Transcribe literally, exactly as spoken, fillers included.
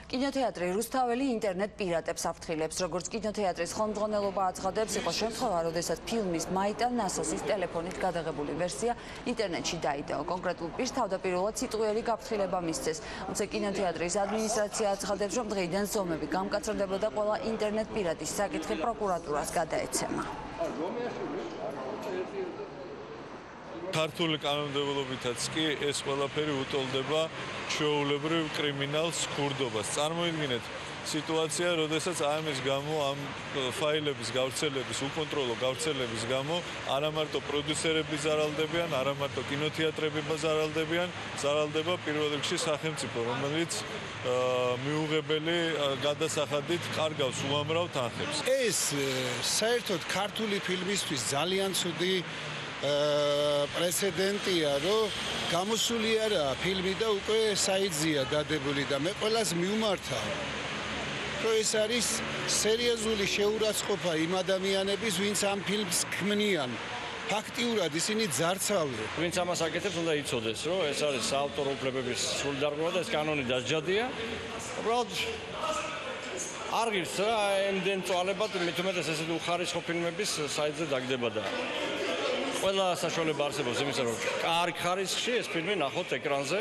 კინოთეატრი რუსთაველი ინტერნეტ პირატებს საფრთხილებს, როგორც კინოთეატრის ხელმძღვანელობა აცხადებს, იყო შემთხვევა, როდესაც ფილმის მაიტა ნასოსის ტელეფონით გადაღებული ვერსია ინტერნეტში დაიდო. კონკრეტულ პირს თავდაპირველად სიტყვიერი გაფრთხილება მისცეს. თუმცა კინოთეატრის ადმინისტრაცია აცხადებს, რომ დღეიდან ზომები გამკაცრდებოდა და ყველა ინტერნეტ პირატის საკითხი პროკურატურას გადაეცემა. ქართული კანონმდებლობითაც კი ეს ყველაფერი უტოლდება ჩვეულებრივ კრიმინალს, ქურდობას. წარმოიდგინეთ სიტუაცია, როდესაც ამის გამო ამ ფაილების გავრცელების, უკონტროლო გავრცელების გამო არა მარტო პროდიუსერები ზარალდებიან, არა მარტო კინოთეატრები ზარალდებიან, ზარალდება პირველ რიგში სახელმწიფო, რომელიც მიუღებელი გადასახადით კარგავს უამრავ თანხებს. ეს საერთოდ ქართული ფილმისთვის ძალიან ცუდი პრეცედენტია, რომ გამოსული არა ფილმი და უკვე საიტზეა დადებული და მე ყველას მიუმართავ, რომ ეს არის სერიოზული შეურაცხყოფა იმ ადამიანების, ვინც ამ ფილმს ქმნიან. ფაქტიურად ისინი ძარცვავენ. ვინც ამას აკეთებს, უნდა იცოდეს, რომ ეს არის საავტორო უფლებების სრული დარღვევა და ეს კანონი დასჯადია. უბრალოდ არ ღირს რა ემდენ წვალებად, მით უმეტეს ესეთი უხარისხო ფილმების საიტზე დაგდება და ყველა საშუალება არსებობს იმისა, რომ კარგ ხარისხში ეს ფილმი ნახოთ ეკრანზე.